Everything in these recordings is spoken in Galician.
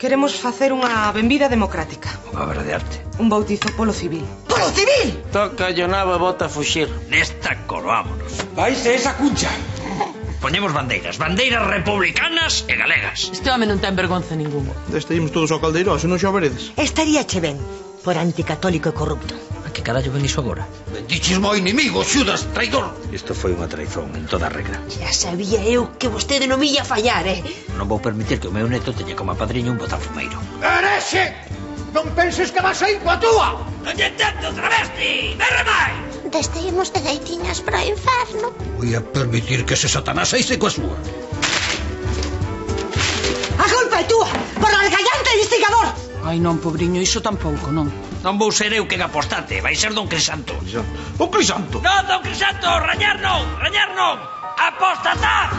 Queremos facer unha benvida democrática. Unha obra de arte. Un bautizo polo civil. Polo civil! Toca yo nabo e bota a fuxir. Nesta coroámonos. Vaise esa cuncha. Poñemos bandeiras republicanas e galegas. Este home non ten vergonza ninguna. Deste imos todos ao caldeirón, se non xa veredes. Estaría che ben, por anticatólico e corrupto. A que carallo ven iso agora? Bendiches mo inimigo, Xudas, traidor. Isto foi unha traizón en toda regra. Ya sabía eu que vostede non me ia fallar, Non vou permitir que o meu neto teña como padriño un botafumeiro. Herexe! Non penses que vas a ir coa túa! Non lle entendo, travesti! Berre máis! Desteimos de gaitiñas para o inferno. Voy a permitir que ese satanás eixe coa súa. A culpa é túa, por algallante e instigador. Ai non, pobriño, iso tampouco, non. Non vou ser eu quen apostate, vai ser Don Crisanto. O Crisanto! Non, Don Crisanto, rañar non! Apostatá!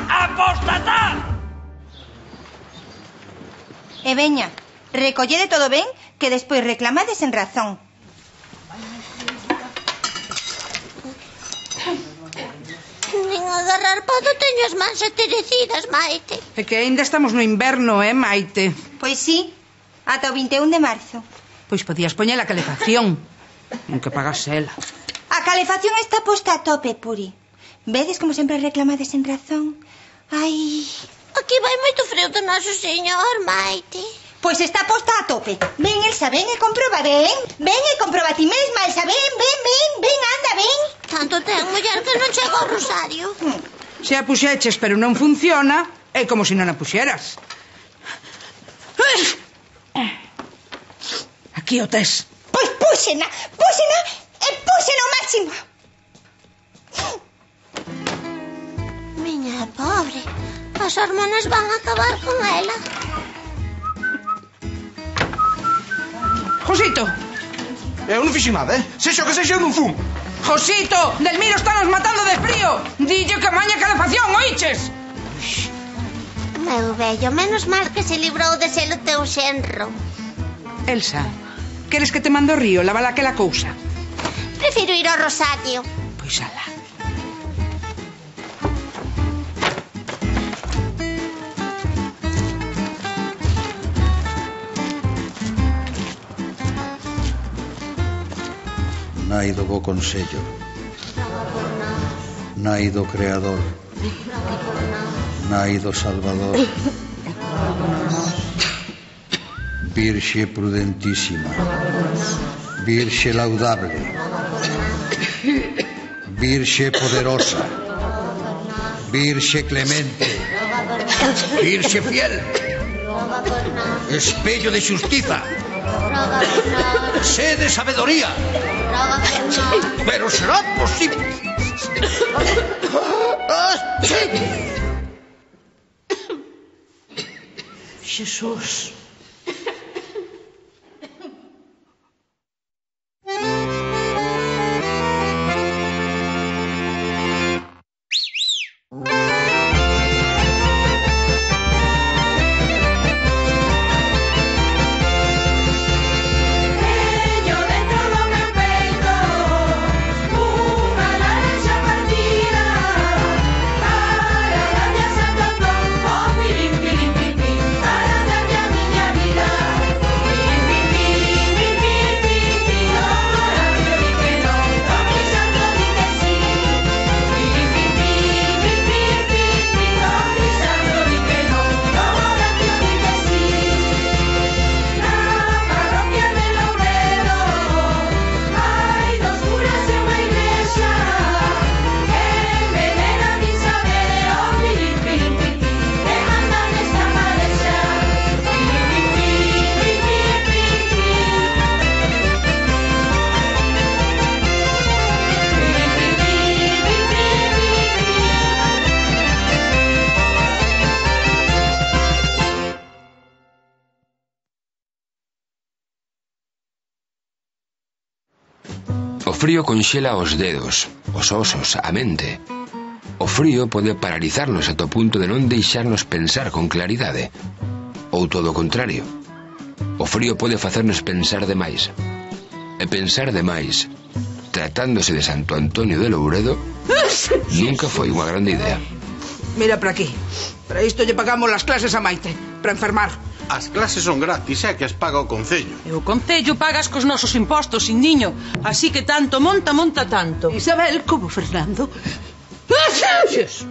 E veña, recollede todo ben, que despois reclamades en razón. Nin agarrar podo teño as mans aterecidas, Maite. É que aínda estamos no inverno, Maite? Pois sí, ata o 21 de marzo. Pois podías poñer a calefacción, aunque pagase ela. A calefacción está posta a tope, Puri. Vedes como sempre reclamades en razón? Ai... Aquí vai moito freo do noso señor, Maite. Pois está posta a tope. Ven, Elsa, ven e comproba, ven. Ven e comproba ti mesma, Elsa, ven, anda, ven. Tanto ten, muller, que non chega ao rosario. Se a puxeches, pero non funciona, é como se non a puxeras. Aquí o tes. Pois púxena e púxena ao máximo. Miña pobre, as hormonas van a acabar con ela. Josito! Eu non fixen nada, Sexa o que sexa, eu non fumo. Josito! Delmiro está nos matando de frío! Dillo que maña calefacción, oíches? Meu vello, menos mal que se librou de ser o teu xenro. Elsa, queres que te mando ao río lavar aquela cousa? Prefiro ir ao rosario. Pois ala. Nai do bo consello, nai do creador, nai do salvador, Virxe prudentísima, Virxe laudable, Virxe poderosa, Virxe clemente, Virxe fiel. Espello de xustiza. Sé de sabedoría. Pero será posible. Jesús. O frío conxela os dedos, os osos, a mente. O frío pode paralizarnos ata o punto de non deixarnos pensar con claridade. Ou todo o contrario. O frío pode facernos pensar demais. E pensar demais, tratándose de Santo Antonio de Louredo, nunca foi unha grande idea. Mira para aquí. Para isto lle pagamos las clases a Maite. Para enfermar. As clases son gratis, que as paga o Concello. E o Concello pagas cos nosos impostos, Indiño. Así que tanto monta tanto. Isabel, como Fernando. Xesus.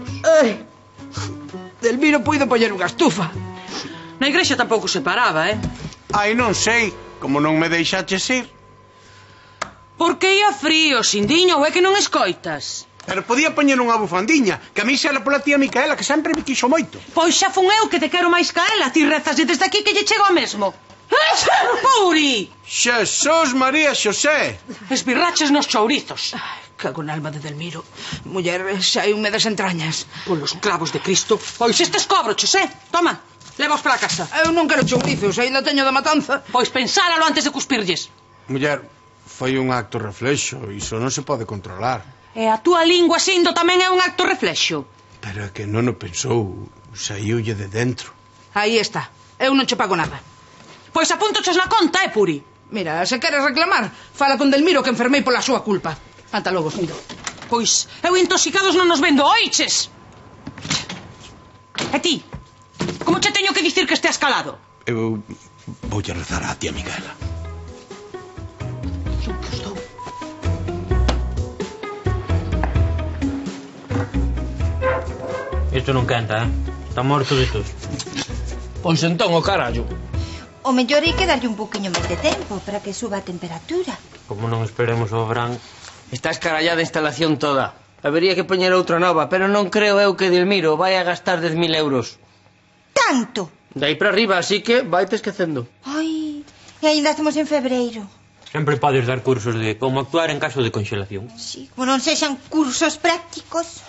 Delmiro puido poñer unha estufa. Na igrexa tampouco se paraba, Ai, non sei, como non me deixaches ir. Porque ia frío, Sindiño, ou é que non escoitas? Pero podía poñer unha bufandiña, que a mí xela pola tía Micaela, que sempre me quixo moito. Pois xa fun eu que te quero máis ca ela. Ti rezas desde aquí que lle chego a mesmo. Puri! Xesús María Xosé! Esbirraches nos chourizos. Cago na alma de Delmiro. Muller, xa hai un me das entrañas. Polos clavos de Cristo. Pois estes cobroches, Toma, levaos para casa. Eu non quero chourizos, ainda teño da matanza. Pois pensáralo antes de cuspirlles. Muller, foi un acto reflexo, iso non se pode controlar. E a túa lingua sindo tamén é un acto reflexo. Pero é que non o pensou, saíulle de dentro. Aí está, eu non che pago nada. Pois apúntoches na conta, Puri? Mira, se queres reclamar, fala con Delmiro que enfermei pola súa culpa. Ata logo, Sindo. Pois, eu intoxicados non nos vendo, oiches? E ti? Como che teño que dicir que esteas calado? Eu voulle rezar á tía Micaela. Isto non canta, Está morto de tos. Pois entón o carallo. O mellor hai que darlle un poquinho máis de tempo para que suba a temperatura. Como non esperemos o verán. Está escarallada a instalación toda. Habería que poñer outra nova, pero non creo eu que Delmiro vai a gastar 10.000 euros. Tanto? De aí para arriba, así que vaite esquecendo. Ai, e ainda estamos en febreiro. Sempre podes dar cursos de como actuar en caso de congelación. Sí, como non sexan cursos prácticos.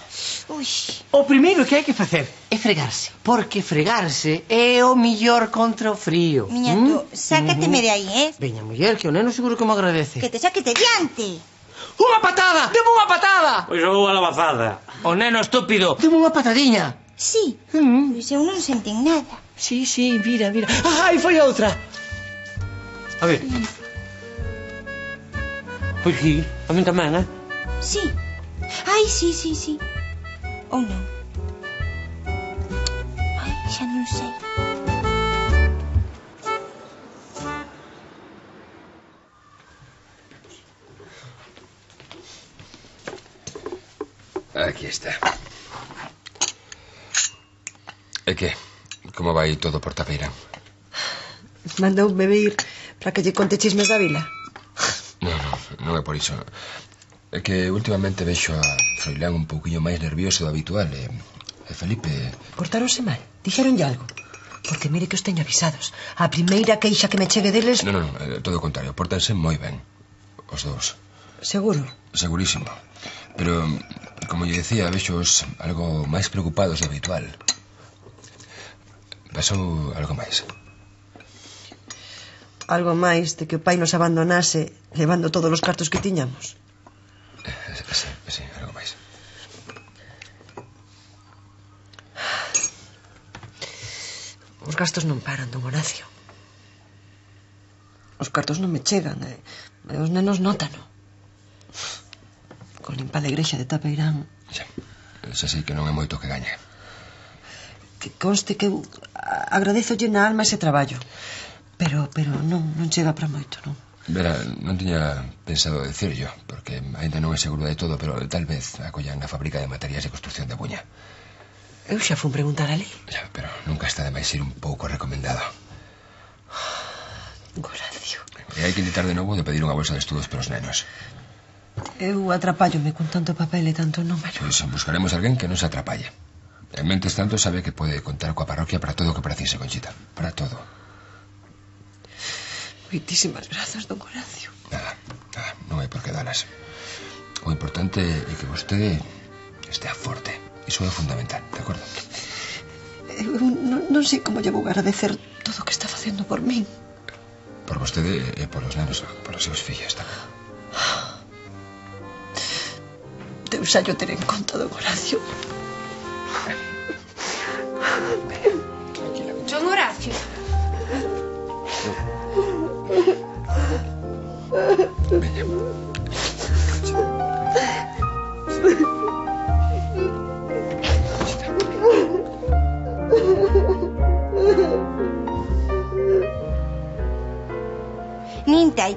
Ui. O primeiro que hai que facer é fregarse, porque fregarse é o millor contra o frío. Miñato, sácateme de aí, Veña, muller, que o neno seguro que me agradece. Que te saques de diante. Unha patada! Deme unha patada! Pois ou a lavazada. O neno estúpido, deme unha patadiña. Sí, pois eu non sentín nada. Sí, mira. Ai, foi outra. A ver. Pois sí, a mí tamén, Sí. Ai, sí. Ou non? Ai, xa non sei. Aquí está. E que? Como vai todo por Tapeirán? Mandoume vir para que lle conte chismes da vila. Non é por iso. É que últimamente vexo a Froilán un pouquiño máis nervioso do habitual e Felipe... Portáronse mal? Dixeronlle algo? Porque mire que os teño avisados. A primeira queixa que me chegue deles... Non, todo o contrario. Pórtanse moi ben. Os dous. Seguro? Segurísimo. Pero, como lle decía, vexos algo máis preocupados do habitual. Pasou algo máis. Algo máis de que o pai nos abandonase levando todos os cartos que tiñamos. Sí, algo máis. Os gastos non paran, don Horacio. Os cartos non me chegan e os nenos nótano. Con limpa a igrexa de Tapeirán. Xa sei que non é moito que gaña. Que conste que eu agradezolle na alma ese traballo. Pero non chega para moito, non? Vera, non tiña pensado decirlo, porque ainda non é seguro de todo, pero tal vez acollan a fábrica de materiais de construcción de Buña. Eu xa fun preguntar ali. Ya, pero nunca está de máis ir un pouco recomendado. Horacio. E hai que intentar de novo de pedir unha bolsa de estudos para os nenos. Eu atrapállome con tanto papel e tanto número. Pois buscaremos alguén que non se atrapalle. En mentes tanto sabe que pode contar coa parroquia para todo o que precise, Conchita. Para todo. Moitísimas grazas, don Horacio. Nada, non hai por que dalas. O importante é que vostede estea forte. Iso é fundamental, de acordo? Eu non sei como lle vou agradecer todo o que está facendo por min. Por vostede e por os nenos, por os seus fillos tamén. Deus xa yo ter en conta, don Horacio. Don Horacio. Veña.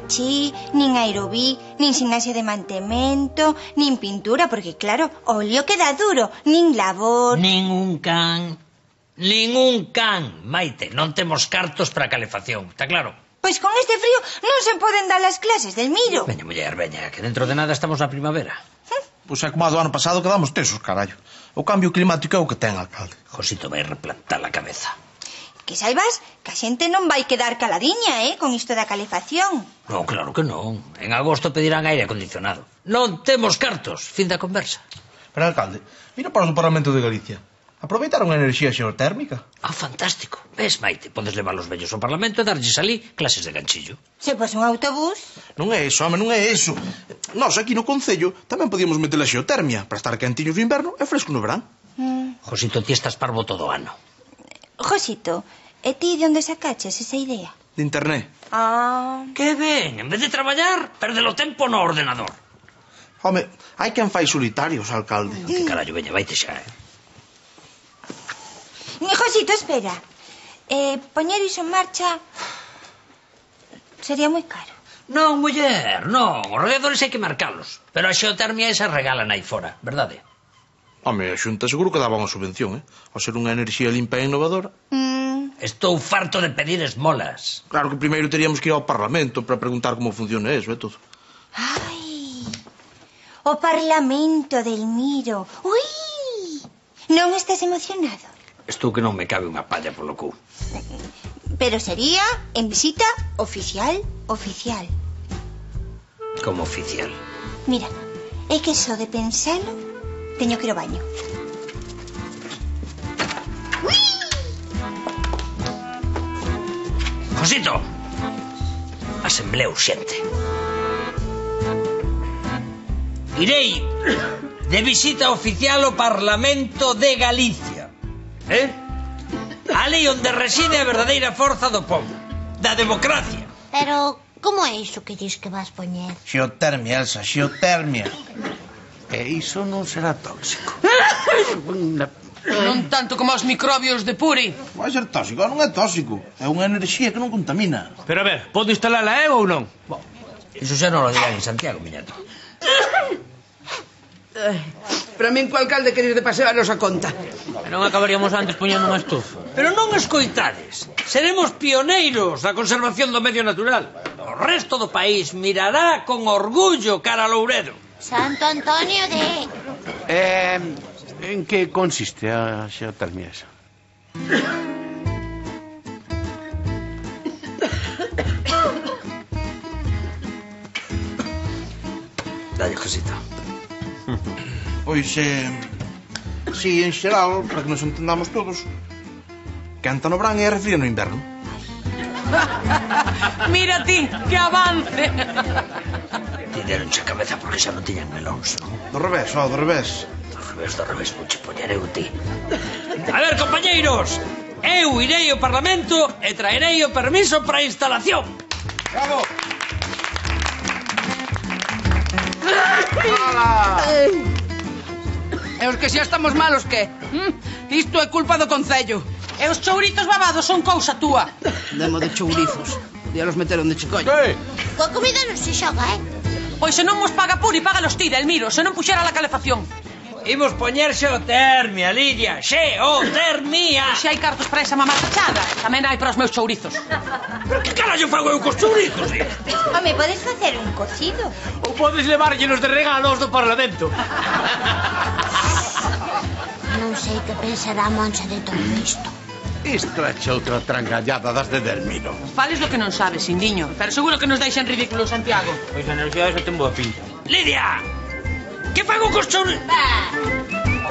pechi, nin aerobí, nin sinase de mantemento, nin pintura, porque claro, o óleo queda duro, nin labor... Nin un can, Maite. Non temos cartos para calefacción, está claro? Pois con este frío non se poden dar as clases del Miro. Veña, muller, veña, que dentro de nada estamos na primavera. Pois é como a do ano pasado quedamos tesos, carallo. O cambio climático é o que ten, alcalde. Josito vai replantar a cabeza. Que saibas que a xente non vai quedar caladiña, con isto da calefacción. Non, claro que non. En agosto pedirán aire acondicionado. Non temos cartos. Fin da conversa. Pero, alcalde, mira para o Parlamento de Galicia. Aproveitaron a enerxía xeotérmica. Ah, fantástico. Ves, Maite, podes levar os vellos ao Parlamento e darlles ali clases de ganchillo. Se pos un autobús... Non é eso, home, non é eso. Nós aquí no Concello tamén podíamos meter a xeotermia para estar quentiños no inverno e fresco no verán. Josito, ti estás parvo todo o ano. Josito, e ti de onde sacaches esa idea? De internet. Ah... Que ben, en vez de traballar, perde o tempo no ordenador. Home, hai quen fai solitarios, alcalde. Que carallo, veña, vaite xa, Josito, espera. Poñer iso en marcha sería moi caro. Non, muller, non. Os radiadores hai que marcalos. Pero a xeotermia esa regalan aí fora, verdade? Home, a Xunta seguro que daba unha subvención, Ao ser unha enerxía limpa e innovadora. Estou farto de pedir esmolas. Claro que primeiro teríamos que ir ao Parlamento para preguntar como funciona eso e todo. Ai, o Parlamento del Miro. Ui, non estás emocionado? Estou que non me cabe unha palla polo cu. Pero sería en visita oficial. Como oficial? Mira, é que só de pensalo teño que ir ao baño. Ui! Josito, asemblea urxente. Irei de visita oficial ao Parlamento de Galicia. Ali onde reside a verdadeira forza do povo, da democracia. Pero, como é iso que dis que vas poñer? Xeotermia, Elsa, xeotermia. E iso non será tóxico. Non tanto como os microbios de Puri. Vai ser tóxico, non é tóxico. É unha enerxía que non contamina. Pero a ver, podo instalala eu ou non? Iso xa non lo dirán en Santiago, miñato. Pero a min co alcalde querer de paseo a nosa conta. E non acabaríamos antes poñendo unha estufa. Pero non escoitades. Seremos pioneiros na conservación do medio natural. O resto do país mirará con orgullo cara a Louredo. Santo Antonio de... En que consiste a xeotermia esa? Dalle, Josito. Pois, si, en xeral, para que nos entendamos todos, canta no verán e refría no inverno. Mira ti, que avance. Ti deronche a cabeza porque xa non tiñan melóns, non? Do revés, do revés. Do revés, vou che poñer eu ti. A ver, compañeiros, eu irei ao Parlamento e traerei o permiso para a instalación. Bravo! E os que xa estamos malos, que? Isto é culpa do Concello. E os chouritos babados son cousa túa. Demo de chourizos. Ya los meteron de chicollo. Coa comida non se xoga, Pois se non mos paga Puri, págalos ti, Delmiro, se non puxera la calefacción. Imos poñer xeotermia, Lidia, xeotermia. Se hai cartos para esa mamá tachada, tamén hai para os meus chourizos. Pero que carallo fago eu cos chourizos, Home, podes facer un cocido. Ou podes levárllenos de regalos do Parlamento. Non sei que pensará a Moncha de todo isto. Isto é outra trangallada das de Delmiro. Fales do que non sabes, Indiño, pero seguro que nos deixan ridículos, Santiago. Pois a enerxía esa ten boa pinta. Lidia! Que fago cos chourizos?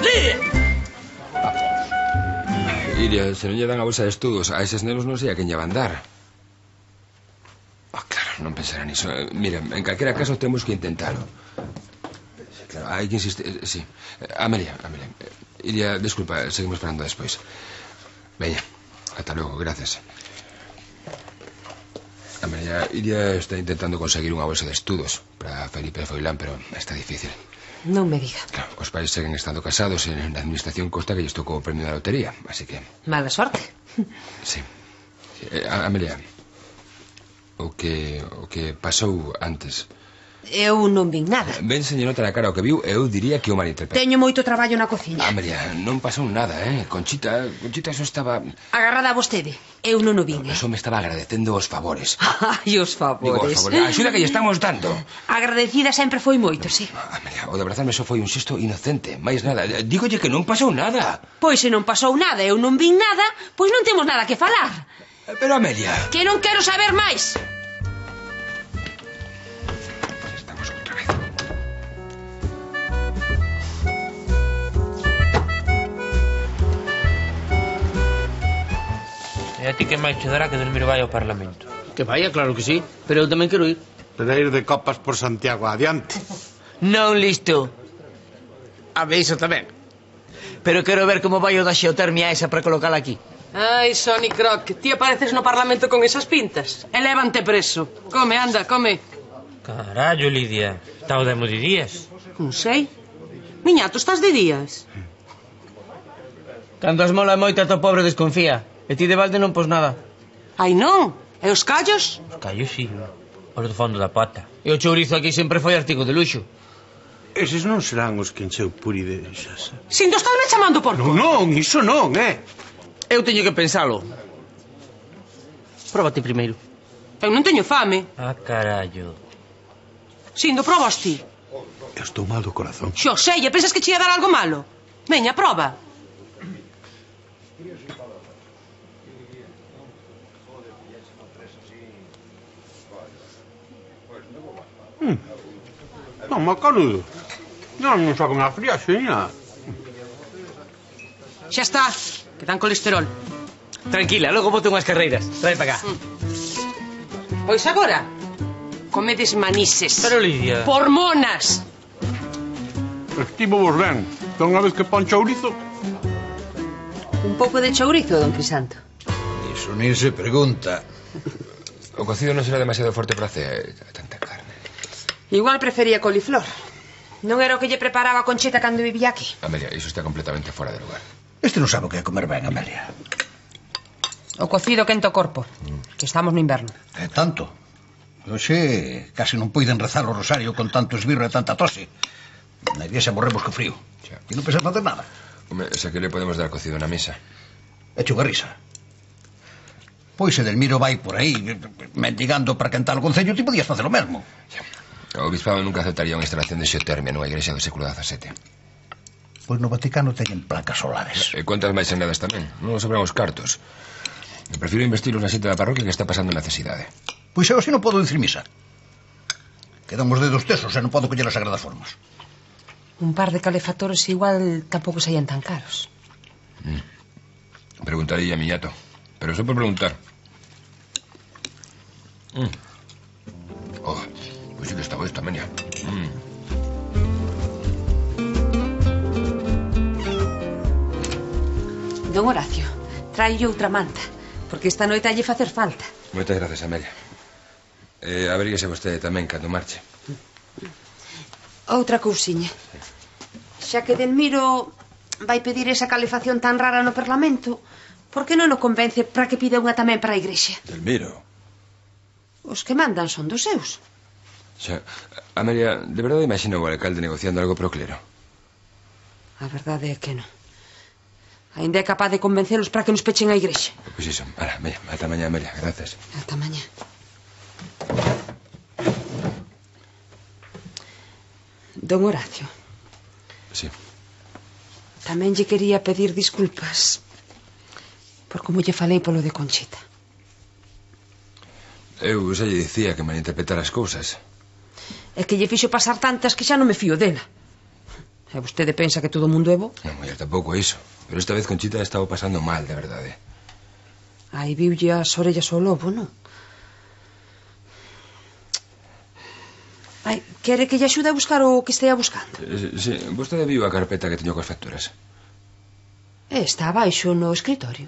Lidia! Iria, se non lle dan a bolsa de estudos a eses nenos non sei a quen lle van dar. Claro, non pensará niso. Mira, en calquera caso temos que intentalo. Claro, hai que insistir, sí. Amelia. Iria, disculpa, seguimos esperando despois. Veña, ata logo, gracias. Amelia, Iria está intentando conseguir unha bolsa de estudos para Felipe Foilán, pero está difícil. Non me diga. Claro, os pais seguen estando casados e na administración consta que lles tocou o premio da lotería, así que... Mala sorte. Sí. Amelia, O que pasou antes. Eu non vin nada. Ben, señorota, na cara o que viu, eu diría que o malinterpretou. Teño moito traballo na cociña. María, non pasou nada, Conchita só estaba... Agarrada a vostede. Eu non o vin, Só me estaba agradecendo os favores. Ai, os favores. Digo, os favores. A axuda que lle estamos dando. Agradecida sempre foi moito, sí. María, o de abrazarme só foi un xesto inocente. Mais nada. Dígolle que non pasou nada. Pois se non pasou nada, eu non vin nada, pois non temos nada que falar. Pero, Amelia... Que non quero saber máis. E a ti que máis che dará que Delmiro vai ao Parlamento? Que vaya, claro que sí. Pero eu tamén quero ir. Para ir de copas por Santiago adiante. Non listo. A ver, iso tamén. Pero quero ver como vai o da xeotermia esa para colocala aquí. Ai, Sonny Croc, ti apareces no Parlamento con esas pintas. Elévante preso. Come, anda, come. Carallo, Lidia. Está o demo de días. Non sei. Miñato, estás de días? Cando as mola moita, to pobre desconfía. E ti de balde non pos nada. Ai, non? E os callos? Os callos, sí. Os do fondo da pata. E o chourizo aquí sempre foi artigo de luxo. Eses non serán os que encheu Puri de xasa. Sinto, estás me chamando porco. Non, iso non, Eu teño que pensalo. Próbate primeiro. Eu non teño fame. Ah, carallo. Sindo, probas ti. Eu estou mal do corazón. Xo sei, e pensas que che ia dar algo malo? Veña, proba. Non, macanudo. Non saben a fría, seña. Xa está, que dan colesterol. Tranquila, logo bote unhas carreiras. Trae para cá. Pois agora, comedes manises. Pero, Lidia... Por monas. Estivo vos ben. Toda unha vez que pon chourizo... Un pouco de chourizo, don Crisanto. Iso nin se pregunta. O cocido non será demasiado forte para tanta carne. Igual prefería coliflor. Non era o que lle preparaba a Conchita cando vivía aquí. Amelia, iso está completamente fora de lugar. Este non sabe o que é comer ben, Amelia. O cocido quenta o corpo, que estamos no inverno. É tanto. Oxe, case non poiden rezar o rosario con tanto esbirro e tanta tose. Na iglesia morremos co frío. E non pensas facer nada. Home, xa que le podemos dar cocido na mesa. Eche unha risa. Pois se Delmiro vai por aí mendigando para quentar o concello, ti podías facer o mesmo. O bispado nunca aceptaría unha instalación de xeotermia nunha iglesia do século XVII. Pois no Vaticano teñen placas solares. E cuantas máis senadas tamén. Non nos sobran os cartos. Me prefiro investilos na xente da parroquia que está pasando necesidade. Pois eu así non podo dicir misa. Quedan os dedos tesos e non podo coller as sagradas formas. Un par de calefactores igual tampouco saían tan caros. Preguntarei a miñato. Pero só por preguntar. Oh, pois sí que estaba esta, Amelia. Don Horacio, traio outra manta, porque esta noite lle facer falta. Moitas gracias, Amelia. Averíguese vostede tamén cando marche. Outra cousiña. Xa que Delmiro vai pedir esa calefacción tan rara no Parlamento, por que non o convence para que pida unha tamén para a igrexa? Delmiro? Os que mandan son dos seus. Xa, Amelia, de verdade imagina o alcalde negociando algo pro clero? A verdade é que non. Ainda é capaz de convencelos para que nos pechen a igrexa. Pois iso, veña, ata mañá, Amelia, gracias. Ata mañá. Don Horacio. Sí. Tamén lle quería pedir disculpas por como lle falei polo de Conchita. Eu xa lle dicía que malinterpretar as cousas. É que lle fixo pasar tantas que xa non me fío dela. E vostede pensa que todo o mundo é bo? Non, muller, tampouco é iso. Pero esta vez Conchita estaba pasando mal, de verdade. Aí viulle as orellas ao lobo, non? Ai, quere que lle axude a buscar o que estea buscando? Sí, vostede viu a carpeta que teño coas facturas? Está abaixo no escritorio.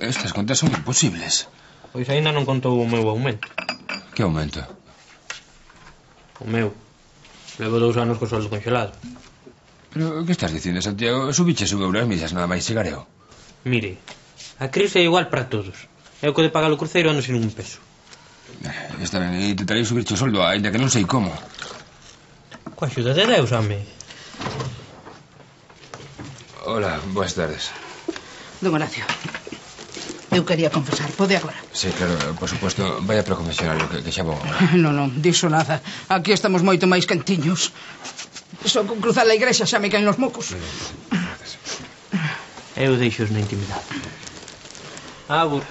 Estas contas son imposibles. Pois aínda non contou o meu aumento. Que aumento? O meu. Levo 2 anos co soldo congelado. Pero, que estás dicindo, Santiago? Subiches un euro as millas, nada máis chegar eu. Mire, a crise é igual para todos. Eu co de pagar o cruceiro ando sin un peso. Está ben, intentarei subirche o soldo, ainda que non sei como. Coa axuda de Deus, home. Hola, boas tardes. Don Horacio, eu quería confesar, pode agora? Sí, claro, por supuesto. Vaya para o confesionario, que xa vou. Non, diso nada. Aquí estamos moito máis quentiños. Só con cruzar a igrexa xa me caen os mocos. Eu deixo-os na intimidade. Agur.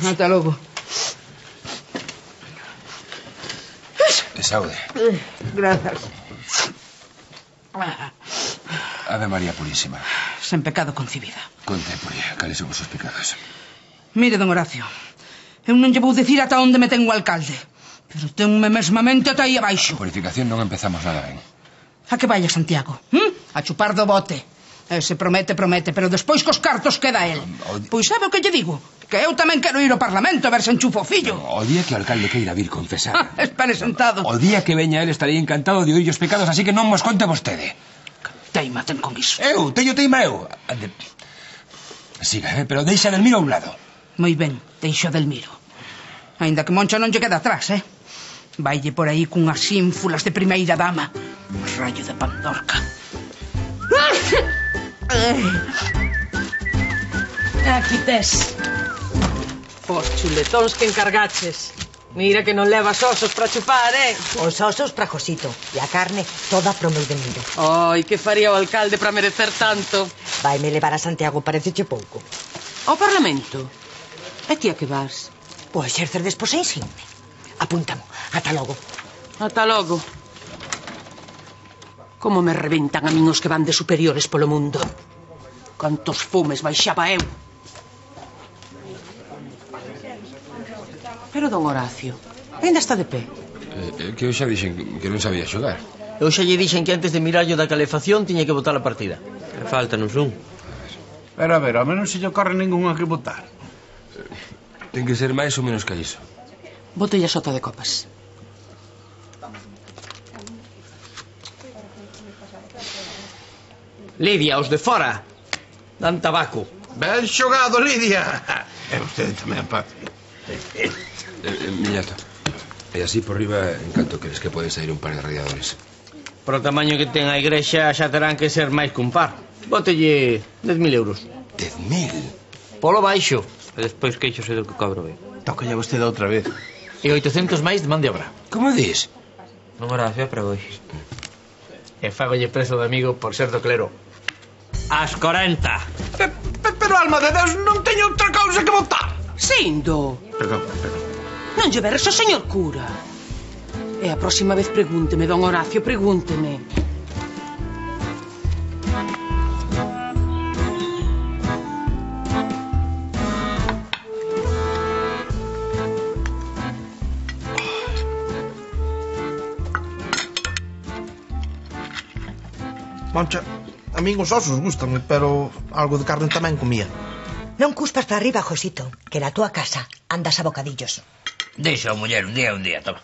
Ata logo. Saúde. Grazas. Ave María Purísima. Sen pecado concibida. Conte, Puri, cales son os seus pecados? Mire, don Horacio, eu non lle vou dicir ata onde me ten o alcalde, pero tenme mesmamente ata aí abaixo. A purificación non empezamos nada ben. A que vaya, Santiago? A chupar do bote. Ese promete, pero despois cos cartos queda el. Pois sabe o que lle digo? Que eu tamén quero ir ao Parlamento a ver se enchufo o fillo. O día que o alcalde queira vir confesar. Espere sentado. O día que veña el estaría encantado de oír os pecados, así que non mos conte vostede. Teima ten con iso. Eu, teima eu. Siga, pero deixa Delmiro a un lado. Moi ben, deixo Delmiro. Ainda que Moncho non lle queda atrás, Vaille por aí cunhas ínfulas de primeira dama. Un rayo de Pandorca. Aquí tes os chuletóns que encargaches. Mira que non levas osos para chupar, Os osos para Josito e a carne toda pro meu Delmiro. Ai, que faría o alcalde para merecer tanto? Vaime levar a Santiago, pareceche pouco. Ao Parlamento? E ti a que vas? O exercer despois en insigne. Apúntamo, ata logo. Ata logo. Como me reventan a min os que van de superiores polo mundo. Cantos fumes baixaba eu. Pero, don Horacio, ainda está de pé. Que eu xa dixen que non sabía xogar. Eu xa lle dixen que antes de mirarlo da calefacción tiña que botar a partida. Faltanos un. Pero a ver, ao menos se lle ocorre ningún a que botar. Ten que ser máis ou menos que iso. Botella sota de copas. Lidia, os de fora. Dan tabaco. Ben xogado, Lidia. E vostede tamén, Paco. Miñato. E así por riba, en canto crees que pode sair un par de radiadores? Por o tamaño que ten a igrexa xa terán que ser máis que un par. Bótelle 10.000 euros. 10.000? Polo baixo. E despois queixose do que cobro ben. Tócalle a vostede outra vez. E 800 máis de man de obra. Como dis? Non Horacio, para hoxe. E fágolle prezo de amigo por ser do clero. As 40. Pero, alma de Deus, non teño outra cousa que botar. Sindo. Perdón. Non lle berres ao señor cura. E a próxima vez pregúnteme, don Horacio, pregúnteme. Moncha, a min os osos gustanme, pero algo de carne tamén comía. Non cuspas para arriba, Josito, que na túa casa andas a bocadillos. Deixa, muller, un día, toma.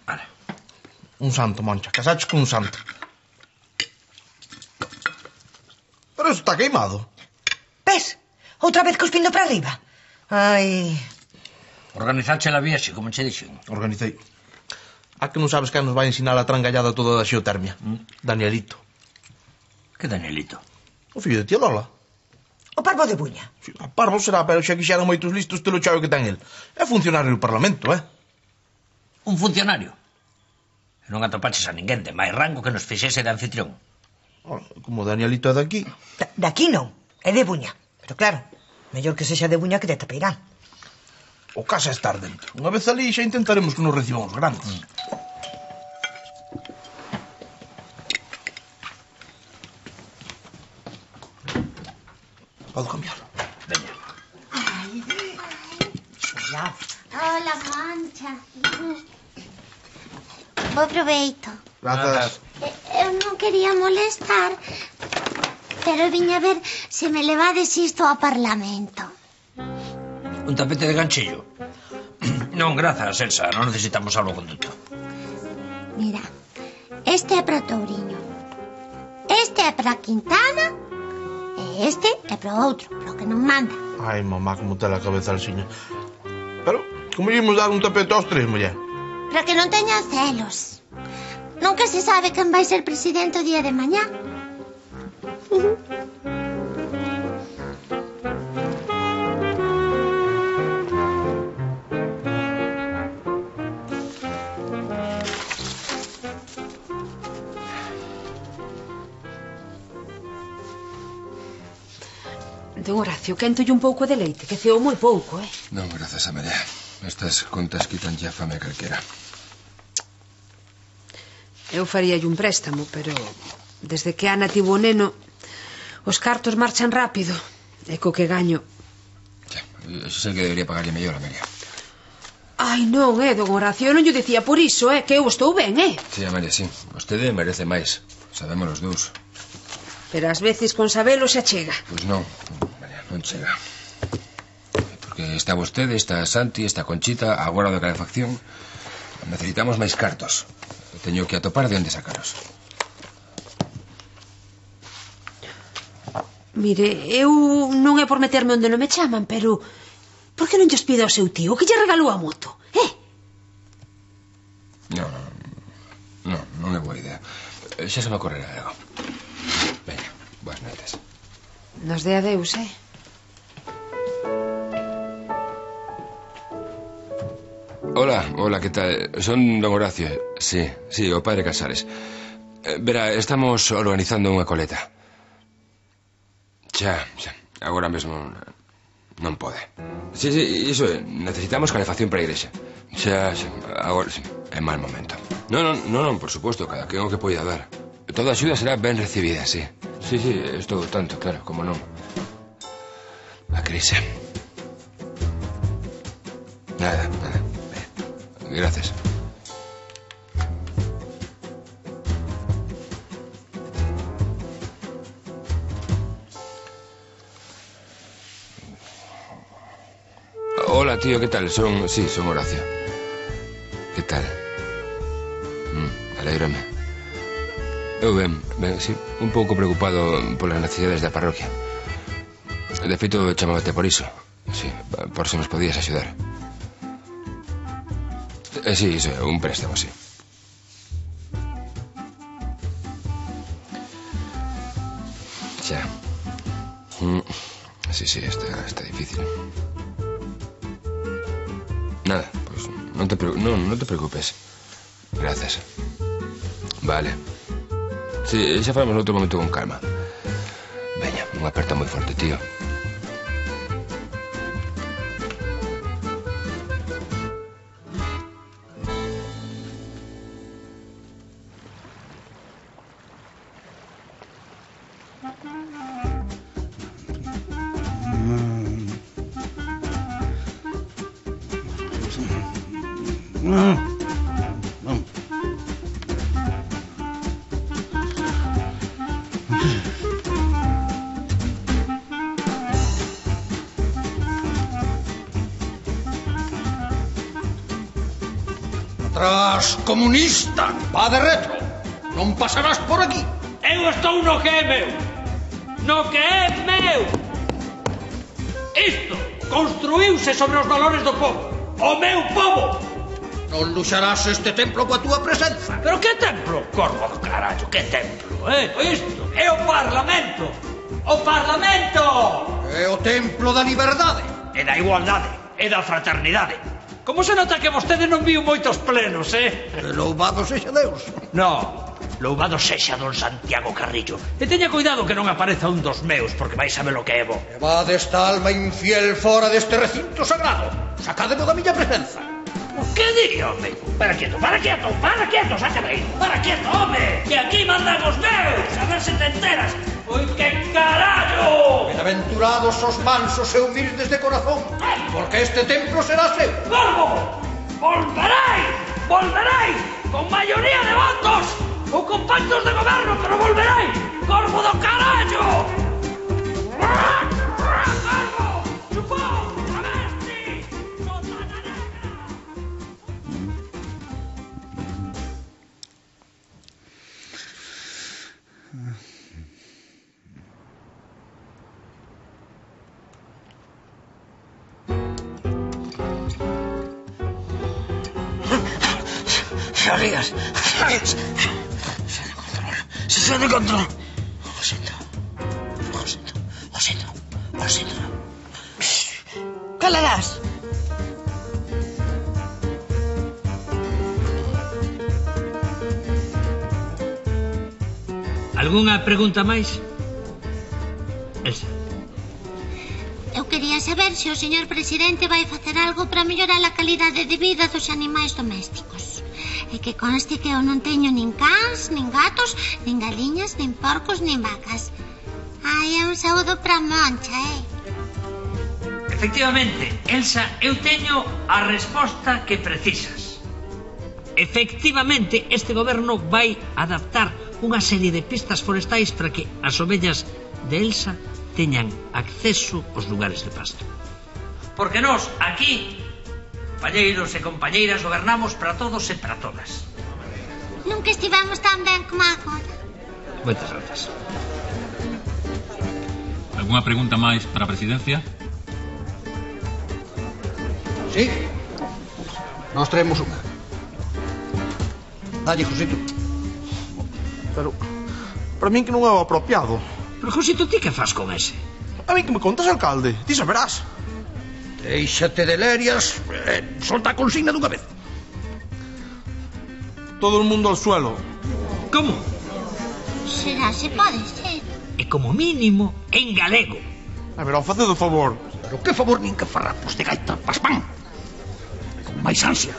Vale. Un santo, Moncha, casaches con un santo. Pero eso está queimado. Ves? Outra vez cuspindo para arriba. Ai... Organizache la viaxe, como che dixen. Organicei. A que non sabes quen nos vai ensinar a trangallada toda da xeotermia? Danielito. Que Danielito? O fillo de tía Lola. O parvo de Buña. Sí, a parvo será, pero xa quixeran moitos listos telo chave que ten el. É funcionario do Parlamento, Un funcionario? Non atopaches a ninguén de máis rango que nos fixese de anfitrión. Como Danielito é daqui. Daqui non, é de Buña. Pero claro, mellor que sexa de Buña que de Tapeirán. O casa é estar dentro. Unha vez ali xa intentaremos que nos reciban os grandes. Podo cambiar. Veña. Hola, Mancha. Bo proveito. Grazas. Eu non quería molestar, pero viña ver se me levades isto ao Parlamento. Un tapete de ganchillo. Non, grazas, Elsa, non necesitamos salvoconduto. Mira, este é para Touriño, este é para Quintana e este é para outro, para o que non manda. Ai, mamá, como te la cabeza alxiña. Pero, como íamos dar un tapete aos tres, muller? Para que non teñan celos. Nunca se sabe quen vai ser presidente o día de mañá. Don Horacio, quéntolle un pouco de leite, que ceou moi pouco, Non, grazas a María. Estas contas quitan ya fame a calquera. Eu faríalle un préstamo, pero desde que Ana tivo o neno, os cartos marchan rápido. E co que gaño... Eso é que debería pagarlle mellor a María. Ai, non, don Horacio, eu non lle dicía por iso, que eu estou ben, Sí, a María, sí. Vostede merece máis. Sabemos os dous. Pero ás veces con sabelo se achega. Pois non, María, non chega. Porque está vostede, está Santi, está Conchita, agora de calefacción. Necesitamos máis cartos. Teño que atopar de onde sacaros. Mire, eu non é por meterme onde non me chaman, pero... Por que non lles pido ao seu tío que lle regalou a moto? Non é boa idea. Xa se me ocorrerá algo. Veña, boas noites. Nos de adeus, Hola, que tal? Son don Horacio. Sí, o padre Casares. Verá, estamos organizando unha coleta. Xa, agora mesmo non pode. Sí, iso é, necesitamos calefacción para a igrexa. Xa, agora é mal momento. Non, por suposto, cada quen o que poida dar. Toda axuda será ben recibida, sí. Sí, estou tanto, claro, como non. A crise. Nada. Gracias. Hola, tío, ¿qué tal? Son Horacio. ¿Qué tal? Alégrame. Eu ben, sí, un pouco preocupado polas necesidades da parroquia. De feito, chamábate por iso. Sí, por se nos podías axudar. Sí, iso, un préstamo, sí. Xa. Sí, está difícil. Nada, pues non te preocupes. Gracias. Vale. Sí, xa falamos noutro momento con calma. Veña, unha aperta moi forte, tío. Atrás, comunista! Va de retro! Non pasarás por aquí! Eu estou no que é meu! No que é meu! Isto construíuse sobre os valores do povo! O meu povo! Non luxarás este templo coa túa presenza! Pero que templo, corvo do carallo? Que templo, Isto é o Parlamento! O Parlamento! É o templo da liberdade! E da igualdade, e da fraternidade! Como se nota que vostede non viu moitos plenos, Louvado sexa Deus! No, louvado sexa don Santiago Carrillo. E teña cuidado que non apareza un dos meus, porque vais saber o que é bo. Levade esta alma infiel fora deste recinto sagrado. Sacádemo da miña presenza. Que diría, home? Para quieto, sácame aí. Para quieto, home. Que aquí mandan os meus. A ver se te enteras. Oi, que carallo. Benaventurados os mansos e humildes de corazón, porque este templo será seu. Corvo, volveréis, con maioría de votos ou con pactos de goberno, pero volveréis. Corvo do carallo. Corvo, chupón, travesti, sotana negra. Salidas. Se de control. Lo siento. Calarás. Algunha pregunta máis? Elsa. Eu quería saber se o señor presidente vai facer algo para mellorar a calidade de vida dos animais domésticos. E que conste que eu non teño nin cans, nin gatos, nin galiñas, nin porcos, nin vacas. Ai, é un saúdo para Moncha, Efectivamente, Elsa, eu teño a resposta que precisas. Efectivamente, este goberno vai adaptar unha serie de pistas forestais para que as ovellas de Elsa teñan acceso aos lugares de pasto. Porque nós, aquí, compañeiros e compañeiras, gobernamos para todos e para todas. Nunca estivemos tan ben como agora. Moitas grazas. Algunha pregunta máis para a presidencia? Sí. Nós traemos unha. Dalle, Josito. Pero, para min que non é o apropiado. Pero, Josito, ti que fas con ese? A mí que me contas, alcalde. Ti saberás. Déixate de lerias. Solta a consigna dunha vez. Todo o mundo ao suelo. Como? Será, se pode ser. E como mínimo en galego. A ver, faced o favor. Pero que favor nin que farrapos de gaita paspán. Con máis ansia.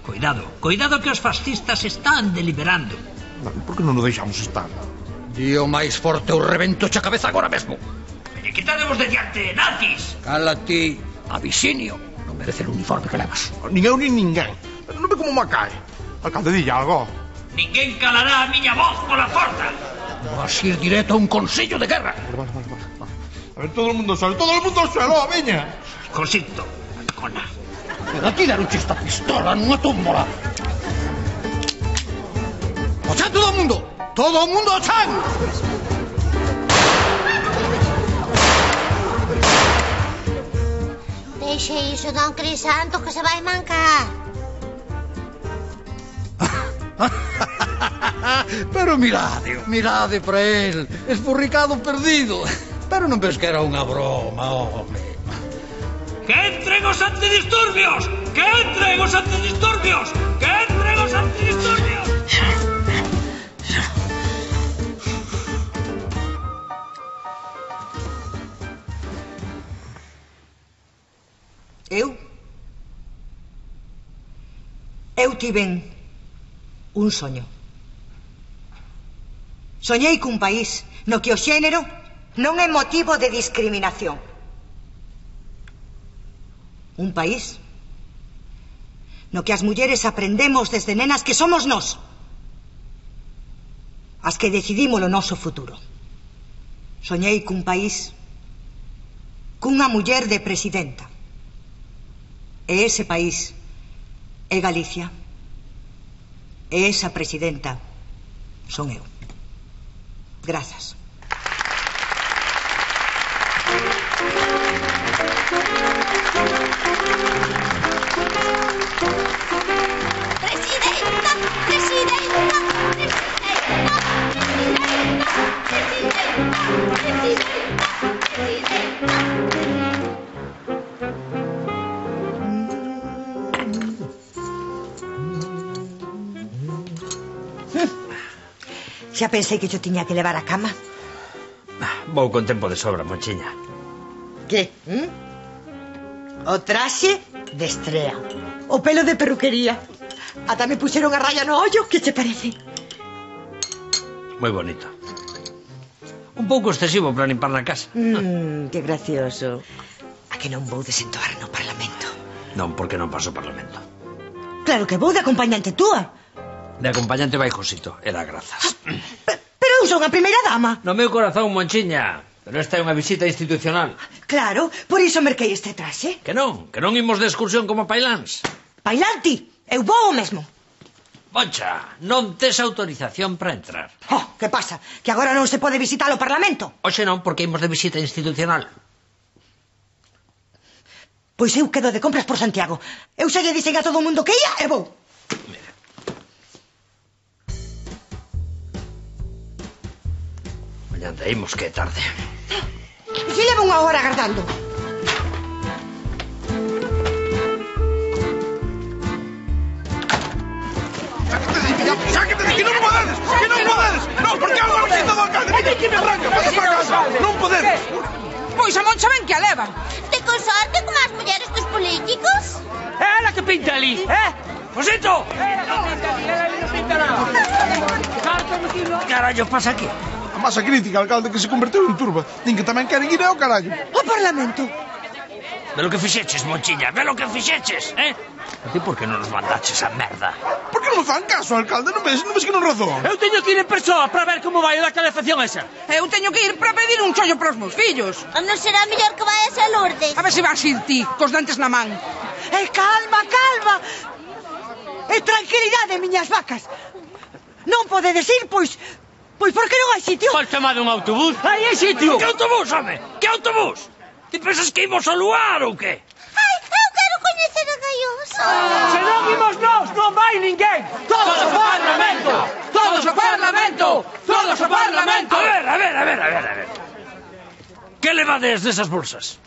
Cuidado que os fascistas están deliberando. Por que non nos deixamos estar? Dío máis forte o rebento xa cabeza agora mesmo. E quitademos de diante, nazis. Cala ti, Abisinio. Non merece o uniforme que levas. Nin eu nin ninguén. Non ve como me cae. Alcalde, dille algo. Ninguén calará a miña voz pola porta. Vas ir directo a un consello de guerra. Vale. A ver, todo o mundo ao suelo, veña. Josito, cona. Pero aquí daruche esta pistola nunha tómbola. O chan todo o mundo! Todo o mundo ao chan! Deixe iso, don Crisanto, que se vai mancar. Pero mirade para el, esburricado perdido. Pero non ves que era unha broma, home. ¡Que entren os antidisturbios! ¡Que entren os antidisturbios! ¡Que entren os antidisturbios! Eu tiven un soño. Soñei cun país no que o xénero non é motivo de discriminación. Un país no que as mulleres aprendemos desde nenas que somos nós as que decidimos o noso futuro. Soñei cun país cunha muller de presidenta. E ese país é Galicia. E esa presidenta son eu. Grazas. Xa pensei que yo tiña que levar a cama. Vou con tempo de sobra, Monchiña. Que? O traxe de estrea. O pelo de perruquería. Ata me puxeron a raya no ollo. Que te parece? Moi bonito. Un pouco excesivo para limpar na casa. Que gracioso. A que non vou desentoar no Parlamento? Non, porque non paso o Parlamento. Claro que vou de acompañante túa. De acompañante vai Josito, e dá grazas. Pero eu son a primeira dama. No meu corazón, Monchiña. Pero esta é unha visita institucional. Claro, por iso merquei este traxe. Que non imos de excursión como pailáns. Pailanti, eu vou o mesmo. Moncha, non tes autorización para entrar. Oh, que pasa? Que agora non se pode visitar o Parlamento? Oxe non, porque imos de visita institucional. Pois eu quedo de compras por Santiago. Eu xa lle dixen a todo o mundo que ia e vou. Mira. Mañante, imos que é tarde. E se leva unha hora agardando? Sáquete de aquí, non podedes! Que non podedes! Non, porque algo a visita do alcalde! Mira, que me arranca, pasa para casa! Non podedes! Pois a Moncha ben que a leva. Te consorte como as mulleres dos políticos? É ela que pinta ali, Josito! Carallo, pasa aquí? A masa crítica, alcalde, que se converteu en turba. Din que tamén queren ir ao carallo. O Parlamento? Ve lo que fixeches, Monchiña, ve lo que fixeches, A ti por que non nos mandaches a merda? Por que non me fan caso, alcalde? Non ves que non razón? Eu teño que ir en persoa para ver como vai da calefacción esa. Eu teño que ir para pedir un chollo para os meus fillos. Non será mellor que vayas a Lourdes? A ver se vas ir ti, cos dentes na man. Calma, calma. E tranquilidade, miñas vacas. Non podedes ir, pois por que non hai sitio? Pois chamade un autobús. Aí hai sitio. Que autobús, home? Que autobús? Ti pensas que imos ao lugar ou que? Ai, eu quero coñecer a Gaioso. Se non imos nós, non vai ninguén. Todos ao Parlamento. Todos ao Parlamento. Todos ao Parlamento. A ver. Que levades desas bolsas?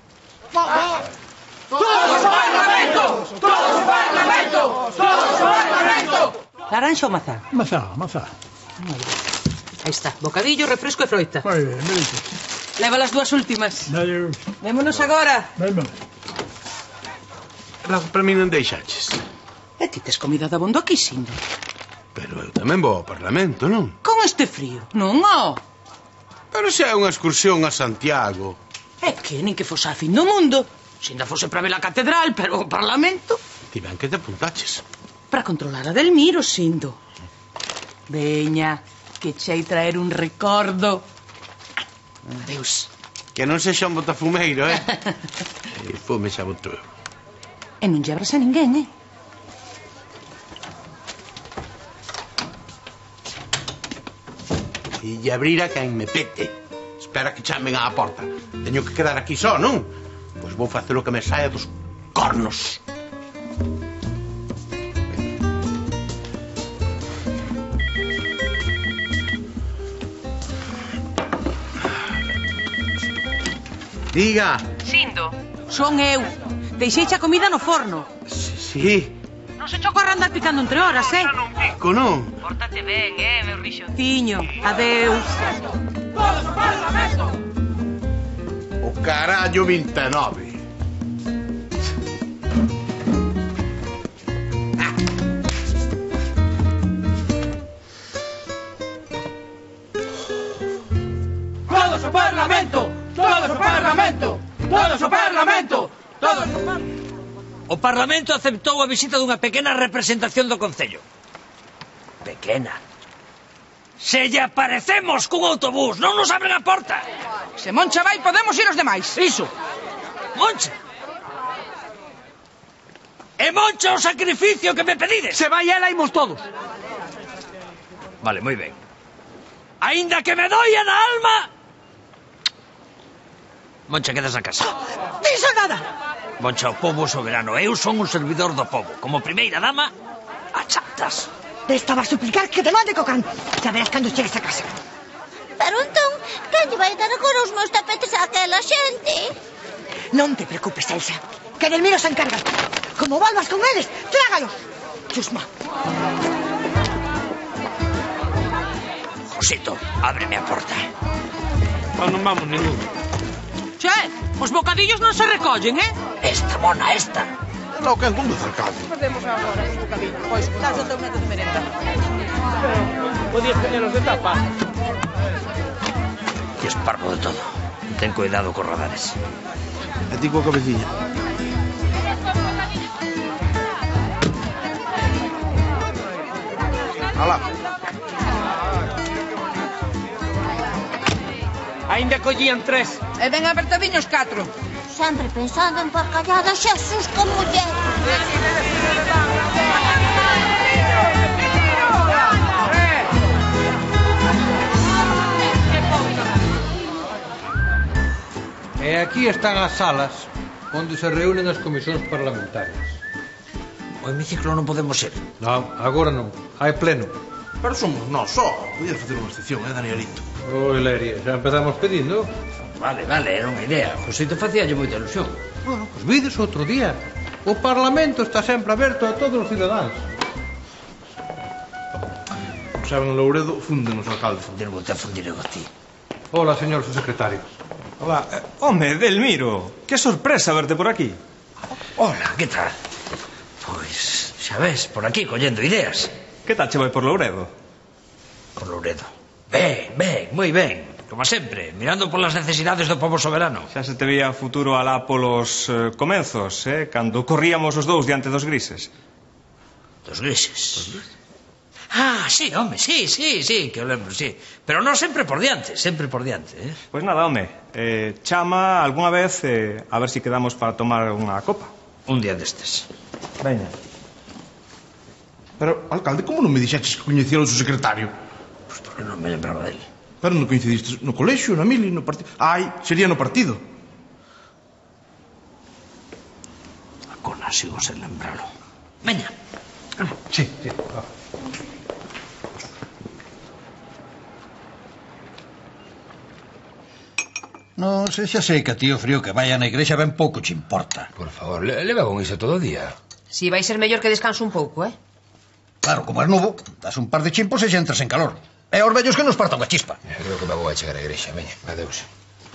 Todos ao Parlamento. Todos ao Parlamento. Todos ao Parlamento. Laranxa ou mazá? Mazá. Aí está, bocadillo, refresco e froita. Moi ben, me dices. Leva as dúas últimas. Dale. Vémonos agora. Vémonos. Logo para mí non deixaches. E ti tes comida de abondo aquí, Sindo? Pero eu tamén vou ao Parlamento, non? Con este frío? Non, Pero se é unha excursión a Santiago. É que nin que fose a fin do mundo. Se ainda fose para ver a catedral, pero o Parlamento... Ti ben que te apuntaches. Para controlar a Delmiro, Sindo. Veña, que chei traer un recordo. Adeus. Que non sexa un botafumeiro, E fume xa botou eu. E non lle abras a ninguén, E lle abrir a quen me pete. Espera que chamen á porta. Teño que quedar aquí só, non? Pois vou facer o que me saia dos cornos. Diga. Sindo. Son eu. Deixeiche a comida no forno. Sí. Non se choco a andar picando entre horas, Pico, non? Pórtate ben, meu rixonciño. Adeus. Todos ao Parlamento. O carallo 29. Todos ao Parlamento. Todos ao Parlamento. Todos ao Parlamento. Todos ao Parlamento. O Parlamento aceptou a visita dunha pequena representación do Concello. Pequena. Se lle aparecemos cun autobús, non nos abren a porta. Se Moncha vai, podemos ir os demais. Iso. Moncha. E Moncha o sacrificio que me pedides. Se vai ela, imos todos. Vale, moi ben. Aínda que me doia na alma... Moncha, quedas na casa. Dixo nada. Moncha, o pobo soberano. Eu son un servidor do pobo. Como primeira dama, achatas. Te estaba a suplicar que te mande co can. Xa verás cando chegues a casa. Pero entón, quen lle vai dar agora os meus tapetes a aquela xente? Non te preocupes, Elsa, que Delmiro se encarga. Como volvas con eles, trágalos. Chusma. Josito, ábreme a porta. Non vamos ningún. Che, os bocadillos non se recollen, Esta, mona, esta. Não, quen conduz, alcalde? Perdemos agora os bocadillos. Pois, das o teu neto de merenda. Podías teñelos de tapa. E esparvo de todo. Ten cuidado cos radares. E ti coa cabecilla. Alá. Ainda collían 3. E ben apertadiños 4. Sempre pensando en porcalladas, Xesús, que muller. E aquí están as salas onde se reúnen as comisións parlamentarias. O hemiciclo non podemos ir. Non, agora non. Hai pleno. Pero somos nós só. Podías facer unha excepción, Danielito? Oi, Leria, xa empezamos pedindo. Vale, era unha idea. Josito facíalle moita ilusión. Bueno, pois vides outro día. O Parlamento está sempre aberto a todos os cidadáns. Saben, Louredo, fúndenos, alcalde. Fundiremos a ti. Hola, señor subsecretario. Hola. Home, Delmiro, que sorpresa verte por aquí. Hola, que tal? Pois, xa ves, por aquí, collendo ideas. Que tal che vai por Louredo? Por Louredo. Ben, moi ben. Como sempre, mirando polas necesidades do povo soberano. Xa se te veía futuro alá polos comenzos, cando corríamos os dous diante dos grises. Dos grises? Ah, sí, home, sí, que o lembro, sí. Pero non sempre por diante, Pois nada, home, chama algunha vez a ver si quedamos para tomar unha copa. Un día destes. Veña. Pero, alcalde, como non me dixeches que coñecía o seu secretario? Pois porque non me lembraba dele. Pero non coincidiste no colexio, na mili, no partido... Ai, sería no partido. A cona sigo sen lembralo. Veña. Sí. Non, se xa sei que a tío Frío que vaya na igrexa ben pouco che importa. Por favor, leva con iso todo o día. Si vai ser mellor que descanse un pouco, Claro, como é novo, das un par de chimpos e xa entras en calor. E aos vellos que nos parta unha chispa. Creo que me vou a chegar á igrexa, veña, adeus.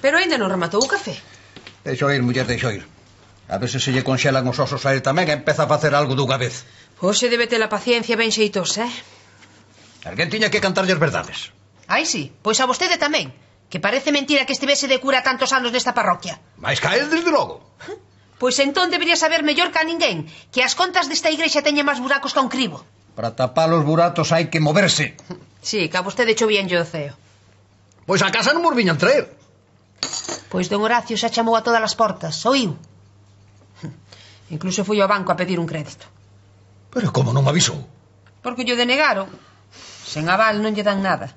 Pero ainda non rematou o café. Deixo ir, muller, deixo ir. A veces se lle conxelan os osos a él tamén e empeza a facer algo dunha vez. Hoxe debe ter a paciencia ben xeitos, Alguén tiña que cantarlle as verdades. Ai, sí, pois a vostede tamén. Que parece mentira que estivese de cura tantos anos nesta parroquia. Mais ca el, desde logo. Pois entón debería saber mellor que a ninguén que as contas desta igrexa teñen máis buracos que un cribo. Para tapar os buratos hai que moverse. Sí, que a vostede chovíanlle o ceo. Pois a casa non mos viñan traer. Pois don Horacio xa chamou a todas as portas, oíu. Incluso fui ao banco a pedir un crédito. Pero como non me avisou? Porque lle denegaron. Sen aval non lle dan nada.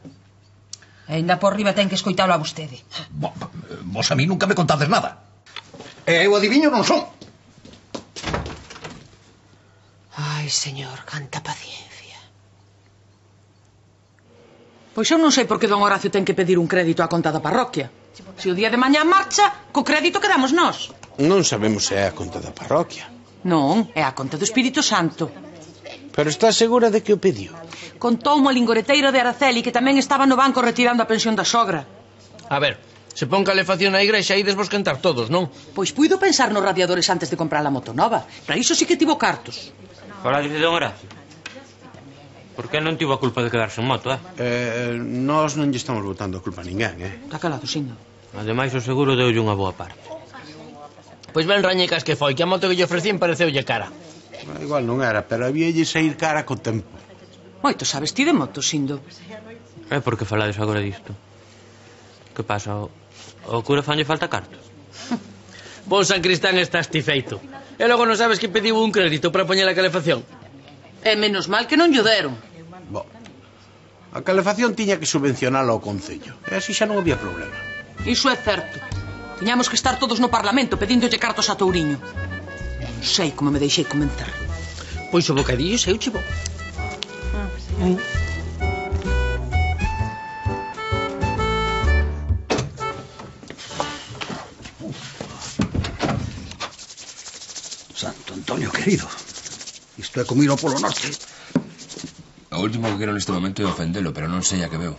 E ainda por riba ten que escoitalo a vostede. Vos a mí nunca me contades nada. E eu adiviño non son. Ai, señor, canta paciencia. Pois eu non sei por que don Horacio ten que pedir un crédito á conta da parroquia. Se o día de mañá marcha, co crédito quedamos nós. Non sabemos se é a conta da parroquia. Non, é a conta do Espírito Santo. Pero está segura de que o pediu? Contoumo a lingoreteiro de Araceli que tamén estaba no banco retirando a pensión da sogra. A ver, se pon calefacción na igrexa ides vos quentar todos, non? Pois puido pensar nos radiadores antes de comprar a moto nova. Para iso sí que tivo cartos. Fala dice don Horacio. Por que non tivo a culpa de quedarse en moto, Nós non lle estamos botando a culpa a ninguén, Está calado, Sindo. Ademais o seguro deulle unha boa parte. Pois ben rañecas que foi, que a moto que lle ofrecían pareceulle cara. Igual non era, pero habíalle sair cara co tempo. Moito sabes ti de moto, Sindo. É porque falades agora disto. Que pasa? O cura fanlle falta cartos? Bon San Cristán estás ti feito. E logo non sabes que pediu un crédito para poñer a calefacción. E menos mal que non llo deron. A calefacción tiña que subvencionala ao Concello. E así xa non había problema. Iso é certo. Tiñamos que estar todos no Parlamento pedíndolle cartos a Touriño. Non sei como me deixei convencer. Pois o bocadillo seu chivo. Santo Antonio querido, isto é como ir ao Polo Norte. O último que quero neste momento é ofendelo, pero non sei a que veo.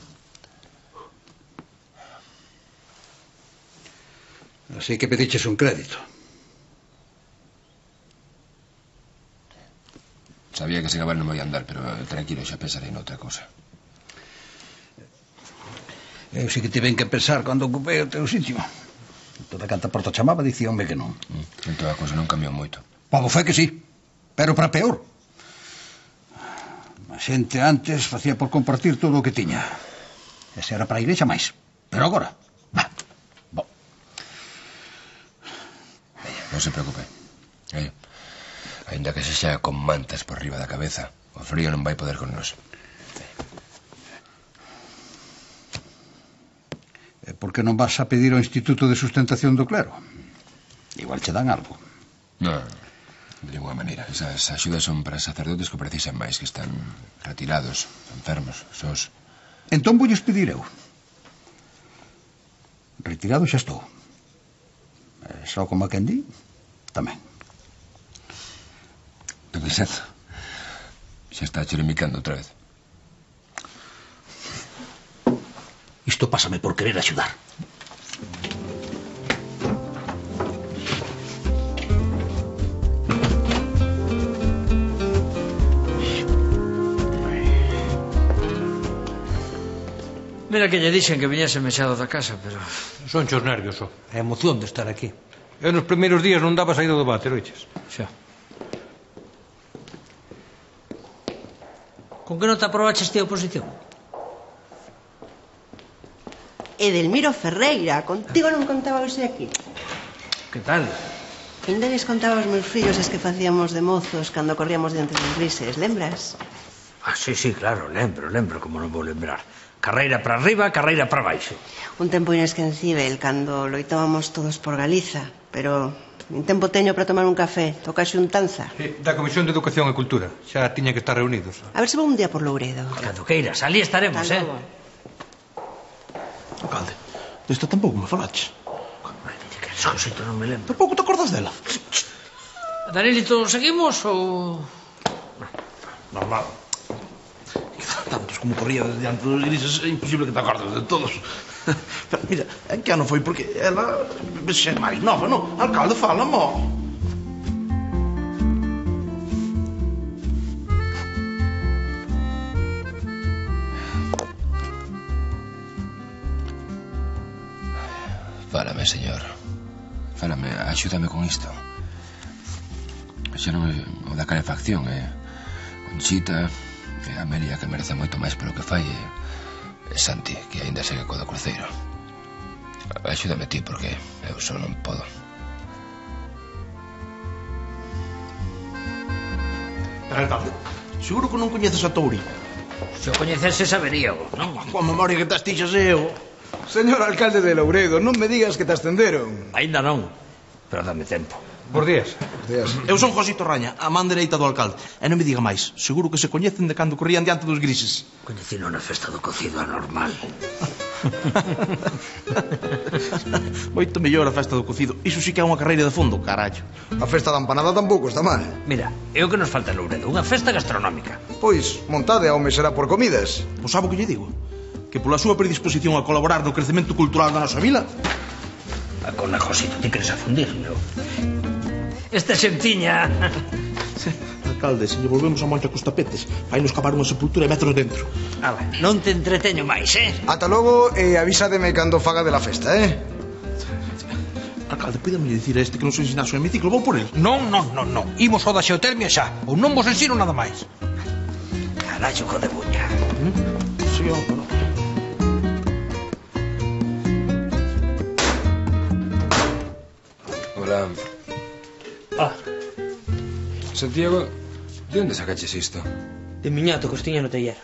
Así que pediches un crédito. Sabía que sen aval non me ia andar, pero tranquilo, xa pensarei noutra cosa. Eu sí que tive que pensar cando ocupei o teu sitio. Toda canta porta chamaba, dicíanme que non. Entón a cosa non cambiou moito. Pobo foi que sí, pero para peor. A xente antes facía por compartir todo o que tiña. Ese era para a igrexa máis. Pero agora, Non se preocupe. Ainda que se xa con mantas por riba da cabeza, o frío non vai poder con nós. por que non vas a pedir ao Instituto de Sustentación do Clero? Igual che dan algo. Non, de ninguna maneira. Esas axudas son para sacerdotes que precisan máis, que están retirados, enfermos, sós. Entón voulles pedir eu. Retirado xa estou. Só como a quen di, tamén. Don Vicente, xa está cherimicando outra vez. Isto pásame por querer axudar. Mira que lle dixen que viñese mexado da casa, pero... Son chos nervios, só. A emoción de estar aquí. Eu nos primeiros días non daba saído do váter, oiches? Xa. Con que nota aprobaches ti a oposición? Edelmiro Ferreira, contigo non contaba hoxe aquí. Que tal? Ainda les contaba aos meus fillos as que facíamos de mozos cando corríamos diante dos grises, lembras? Ah, sí, claro, lembro, como non vou lembrar. Carreira para arriba, carreira para baixo. Un tempo inesquecível, cando loitábamos todos por Galiza, pero nin tempo teño para tomar un café, toca xuntanza. Sí, da Comisión de Educación e Cultura, xa tiña que estar reunidos. A ver se vou un día por Louredo. Cando queiras, ali estaremos, Alcalde, desta tampouco me falaches. Que Josito, non me lembro. Tampouco te acordas dela? Danielito, seguimos ou...? Normal. Tantos como corría diante dos grises, é imposible que te acordes de todos. Pero mira, en que ano foi? Porque ela é máis nova, non? Alcalde, fala, mo. Fálame, señor. Fálame, axúdame con isto. Xa non é o da calefacción, Conchita, e Amelia, que merece moito máis polo que fai, e Santi, que aínda segue co do cruceiro. Axúdame ti, porque eu só non podo. Pero, alcalde, seguro que non coñeces a Touri? Se o coñecese saberíao, non? Coa memoria que te astixas eu. Señor alcalde de Louredo, non me digas que te ascenderon. Ainda non, pero dame tempo. Por días. Eu son Josito Raña, a man dereita do alcalde. E non me diga máis, seguro que se coñecen de cando corrían diante dos grises. Coñecino na festa do cocido anormal. Moito mellor a festa do cocido. Iso sí que é unha carreira de fondo, carallo. A festa da empanada tampouco está mal. Mira, é o que nos falta en Louredo, unha festa gastronómica. Pois, montade ao me será por comidas. Pois sabe o que lle digo? Que pola súa predisposición a colaborar no crecemento cultural da nosa vila... Con a Josito ti queres afundir, meu. Esta xentiña... Alcalde, se lle volvemos a mancha cos tapetes, vai nos cavar unha sepultura e metros dentro. Ala, non te entreteño máis, Ata logo e avísademe cando faga de la festa, Alcalde, pídame dicir a este que non se ensinase o hemiciclo, vou por el. Non. Imos ao da xeotermia xa, ou non vos ensino nada máis. Carallo, co de buña. Sí, hombre, non. Hola. Santiago, de onde sacaches isto? De miñato, costiña no taller.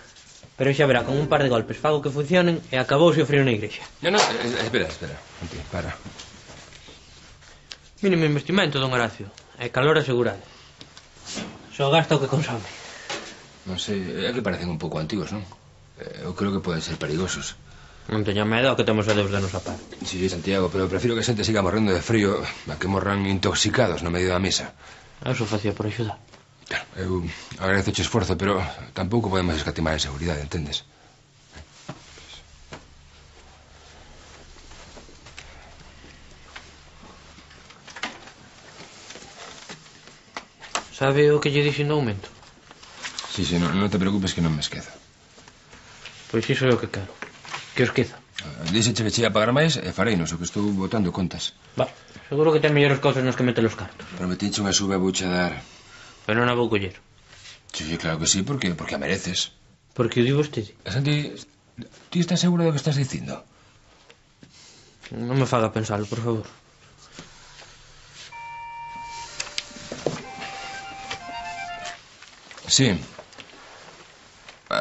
Pero xa verá, con un par de golpes fago que funcionen e acabouse o frío na igrexa. No, espera. Santi, para. Mínimo investimento, don Horacio. E calor asegurado. Só gasta o que consome. Non sei, é que parecen un pouco antigos, non? Eu creo que poden ser perigosos. Non teña medo que temos a Deus de nosa parte. Sí, Santiago, pero prefiro que a xente siga morrendo de frío a que morran intoxicados no medio da misa. Eso facía por axudar. Claro, eu agradezo o esforzo, pero tampouco podemos escatimar en seguridade, entendes? Sabe o que lle dixen do aumento? Sí, non te preocupes que non me esquezo. Pois iso é o que quero. Que os queza. Díxeche que che ia pagar máis e fareinos, o que estou botando contas. Va, seguro que ten mellores cousas nos que mete os cartos. Prometinche unha sube a vouche dar. Pero non a vou coller. Sí, claro que sí, porque a mereces. Porque o di vostede. Santi, ti estás seguro do que estás dicindo? Non me faga pensalo, por favor. Sí.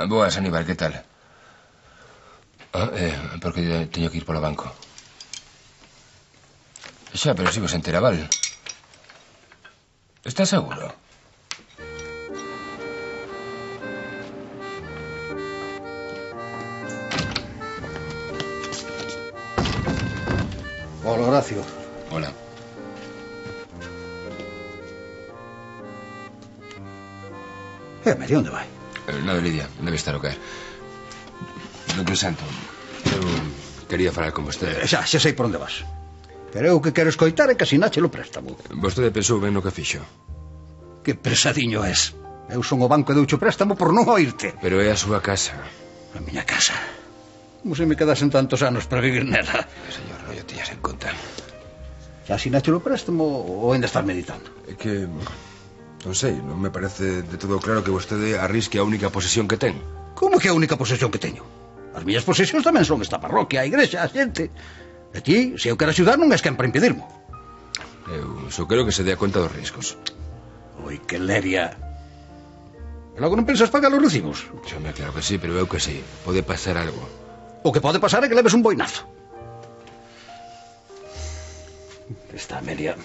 Boas, Aníbal, que tal? Porque teño que ir polo banco. Xa, pero si vos entera, val? Estás seguro? Hola, Horacio. Hola. Medio, onde vai? Nada, Lidia, debe estar o caer. Doutor Santo, eu quería falar con vostede. Xa sei por onde vas. Pero eu o que quero escoitar é que asinache o préstamo. Vostede pensou ben no que fixo. Que pesadiño és. Eu son o banco e doucho préstamo por non oírte. Pero é a súa casa. A miña casa. Como se me quedasen tantos anos para vivir nela. Señor, non o tiñas en conta. Xa asinache o préstamo ou ainda estás meditando? É que... non sei, non me parece de todo claro que vostede arrisque a única posesión que ten. Como que a única posesión que teño? As miñas posesións tamén son esta parroquia, a igrexa, a xente. E ti, se eu quero axudar, non és quen para impedirmo. Eu só quero que se dé a conta dos riscos. Oi, que leria. E logo non pensas pagar os recibos? Xome, claro que sí, pero eu que sí. Pode pasar algo. O que pode pasar é que leves un boinazo. Esta Amelia...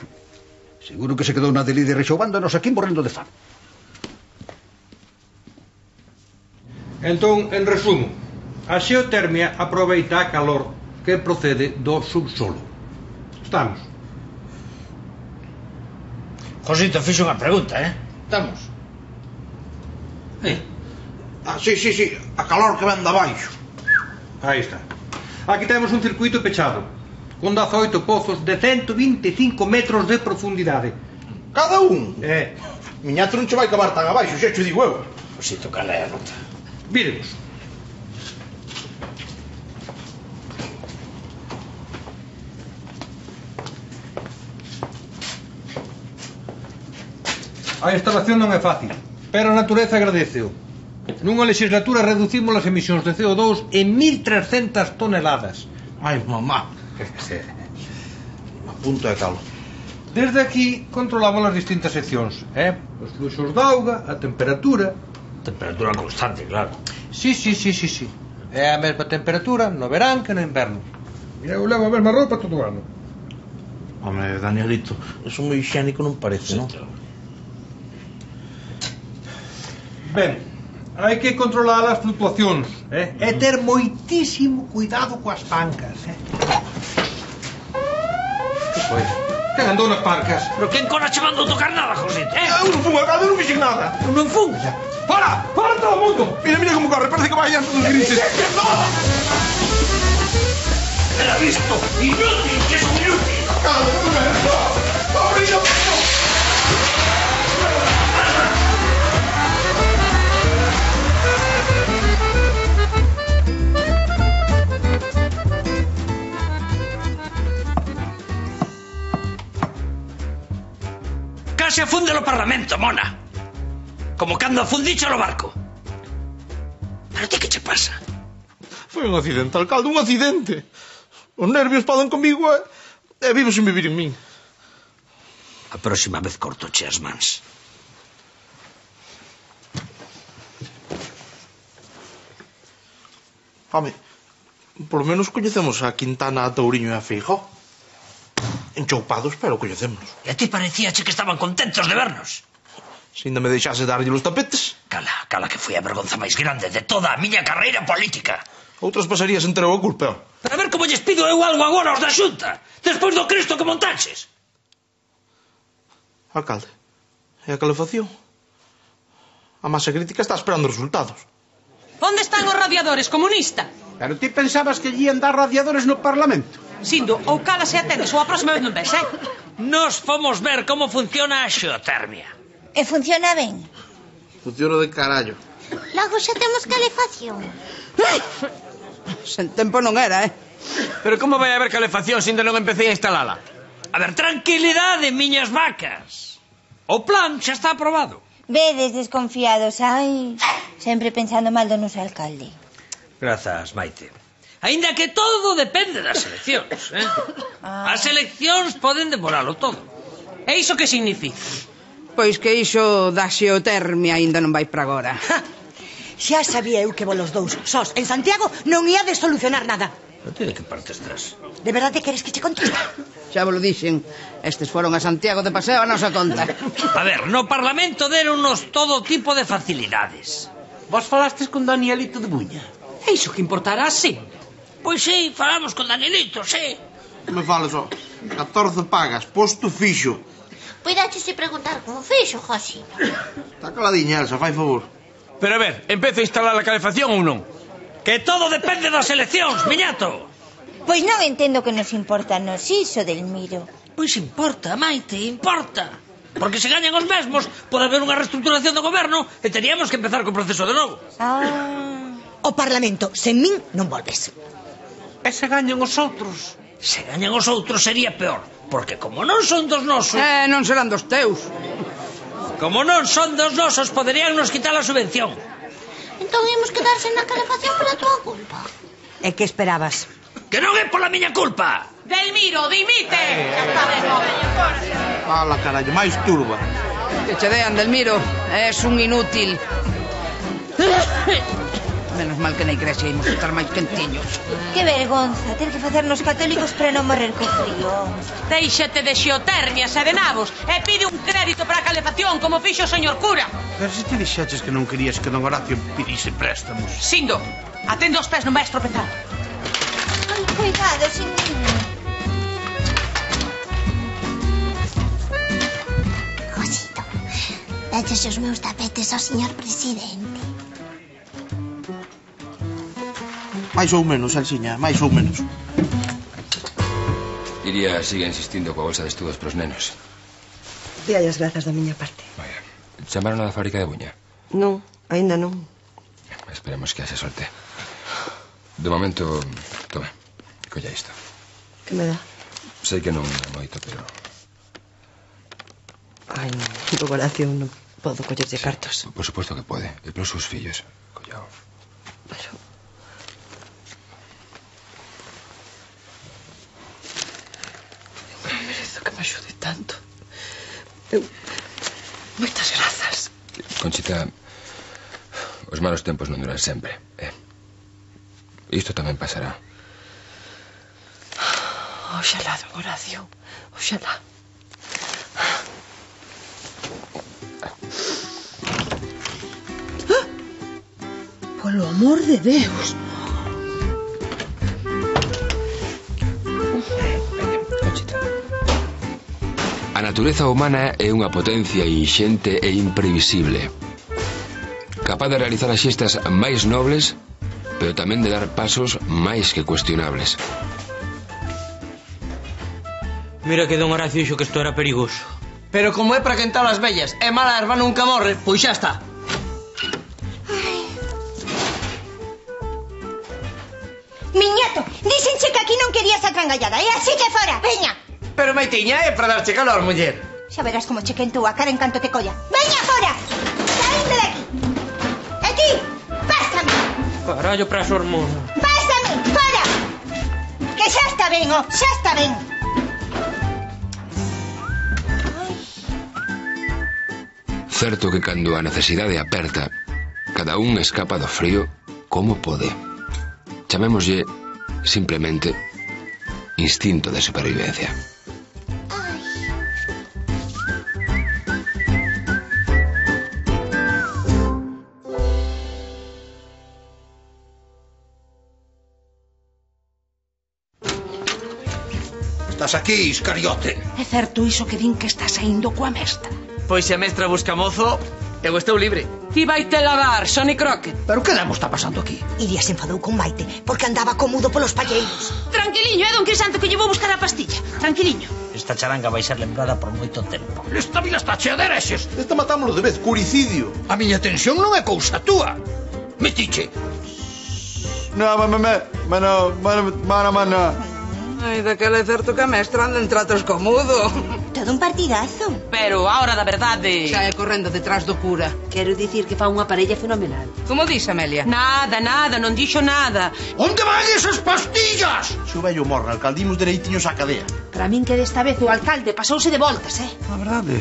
seguro que se quedou na de líder rexoubándonos aquí morrendo de fame. Entón, en resumo, a xeotermia aproveita a calor que procede do subsolo. Estamos. Josito, fixo unha pregunta, Estamos. Sí, a calor que ven de abaixo. Aí está. Aquí temos un circuito pechado, con 18 pozos de 125 metros de profundidade. Cada un? Miñato non che vai cavar tan abaixo, xa che digo eu. Josito, cal é a nota? Víremos. A instalación non é fácil, pero a natureza agradeceo. Nunha legislatura reducimos as emisións de CO2 en 1.300 toneladas. Ai, mamá. A punto de calo. Desde aquí controlamos as distintas seccións, os fluxos de auga, a temperatura. Temperatura constante, claro. Sí. É a mesma temperatura no verán que no inverno. E eu levo a mesma roupa todo o ano. Home, Danielito, eso moi higiénico non parece, non? Ben, hai que controlar as fluctuacións, e ter moitísimo cuidado coas pancas, Que foi? Quen andou nas pancas? Pero quen cona che mandou tocar nada, Josito, Eu non fun alcalde, non fixen nada. Non fun? Fora todo o mundo. Mira como corre, parece que vai antes dos grises. Era visto, inútil, que son inútil. Case afunde o Parlamento, mona. Como cando afundicho no barco. Pero ti que che pasa? Foi un accidente, alcalde, un accidente. Os nervios poden comigo e vivo sen vivir en min. A próxima vez cortoche as mans. Home, por lo menos coñecemos a Quintana, a Touriño e a Feijóo. Enchoupados, pero coñecemos. E a ti parecíache que estaban contentos de vernos. Se ainda me deixase darlle os tapetes. Cala, que foi a vergonza máis grande de toda a miña carreira política. Outras pasarías enterou a culpa. Pero a ver como lles pido eu algo agora aos da Xunta, despois do Cristo que montaches. Alcalde, e a calefacción? A masa crítica está esperando resultados. Onde están os radiadores, comunista? Pero ti pensabas que lle ian dar radiadores no Parlamento? Sindo, ou cala se atendes ou a próxima vez non ves, Nos fomos ver como funciona a xeotermia. E funciona ben? Funciona de carallo. Logo xa temos calefacción. Sen tempo non era, Pero como vai haber calefacción se ainda non empecé a instalala? A ver, tranquilidade, miñas vacas. O plan xa está aprobado. Vedes desconfiados, sempre pensando mal do noso alcalde. Grazas, Maite. Aínda que todo depende das eleccións, As eleccións poden demoralo todo. E iso que significa? Pois que iso da xeotermia aínda non vai para agora. Xa sabía eu que vos dous sós en Santiago non ia de solucionar nada. Non te de que parte estás? De verdade queres que che conteste? Xa vos lo dixen. Estes foron a Santiago de paseo a nosa conta. A ver, no Parlamento deronnos todo tipo de facilidades. Vos falastes con Danielito de Buña? E iso que importará, sí. Pois sí, falamos con Danielito, sí. Me falas, 14 pagas, posto fixo. Puidaches preguntar como fixo, Josino. Está caladiña, Elsa, fai favor. Pero a ver, empeza a instalar a calefacción ou non? Que todo depende das eleccións, miñato. Pois non entendo que nos importa nos iso, Delmiro. Pois importa, Maite, importa. Porque se gañan os mesmos, pode haber unha reestructuración do goberno e teríamos que empezar co proceso de novo. O Parlamento, sen min, non volves. E se gañan os outros? Se gañan os outros sería peor, porque como non son dos nosos... non serán dos teus. Como non son dos nosos, poderían nos quitar a subvención. Entón íamos quedarse na calefacción pola tua culpa. E que esperabas? Que non é pola miña culpa. Delmiro, dimite! Fala, carallo, máis turba. Que che dean, Delmiro, és un inútil. Menos mal que na igrexa ímos estar máis quentiños. Que vergonza ter que facernos católicos para non morrer co frío. Déixate de xeotermias e de nabos e pide un crédito para a calefacción como fixo o señor cura. Pero se te dixeches que non querías que don Horacio pedise préstamos. Sindo, atende os pés, non vais tropezar. Ai, cuidado, sin niño. Josito, daches os meus tapetes ao señor presidente. Mais ou menos, Elsiña, máis ou menos. Iria sigue insistindo coa bolsa de estudos pros nenos. Díai as grazas da miña parte. Vaya, chamaron a da fábrica de Buña? Non, aínda non. Esperemos que haxa sorte. De momento, toma, colla isto. Que me dá? Sei que non é moito, pero... Ai, non, do Horacio non podo collerlle cartos. Por suposto que pode, e pros seus fillos, collao. Pero... merezo que me axude tanto. Moitas grazas. Conchita, os malos tempos non duran sempre, Isto tamén pasará. Oxalá, don Horacio, oxalá. Polo amor de Deus. A natureza humana é unha potencia inxente e imprevisible, capaz de realizar as xestas máis nobles, pero tamén de dar pasos máis que cuestionables. Mira que don Horacio dixo que isto era perigoso. Pero como é para quentar as vellas e mala erva nunca morre, pois xa está. Miñato, díxenche que aquí non querías a trangallada, e así que fora, veña. Pero Maitiña, é para darche calor, muller. Xa verás como che quentou a cara en canto te colla. Veña fora! Saín de aquí! E ti, pásame! Carallo para as hormonas. Pásame, fora! Que xa está ben, xa está ben. Certo que cando a necesidade aperta, cada un escapa do frío como pode. Chamémoslle, simplemente, instinto de supervivencia. Estás aquí, iscariote. É certo iso que din que está saindo coa mestra? Pois se a mestra busca mozo, eu estou libre. Ti vai te lavar, Sonny Crockett. Pero que demo está pasando aquí? Iria se enfadou con Maite porque andaba cómodo polos palleiros. Tranquiliño, é don Crisanto que lle vou buscar a pastilla. Tranquiliño. Esta charanga vai ser lembrada por moito tempo. Esta vila está chea de herexes. Esta matámoslo de vez, curicidio. A miña tensión non é cousa túa. Metiche. No, mana. Ai, daquela é certo que a mestra anda en tratos co mudo. Todo un partidazo. Pero a hora da verdade... Xa é correndo detrás do cura. Quero dicir que fa unha parella fenomenal. Como dis, Amelia? Nada, non dixo nada. Onde van esas pastillas? Se o vello morre, alcaldimos dereitiños á cadea. Para min que desta vez o alcalde pasouse de voltas, A verdade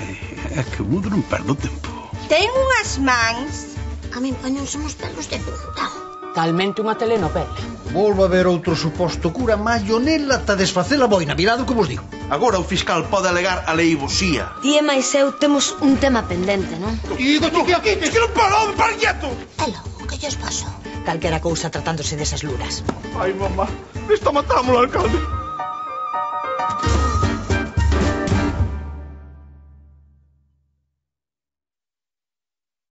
é que o mundo non perde o tempo. Ten unhas mans. que a min poñense os pelos de punta. Talmente unha telenovela. Volvo a ver outro suposto cura Mayonela ta desfacer a boina, mirado que vos digo. Agora o fiscal pode alegar a leivosía. Ti e máis eu temos un tema pendente, non? Digo, chiqui, es que non paro, para quieto. E logo, que lles pasou? Calquera cousa tratándose desas luras. Ai, mamá, está matando o alcalde.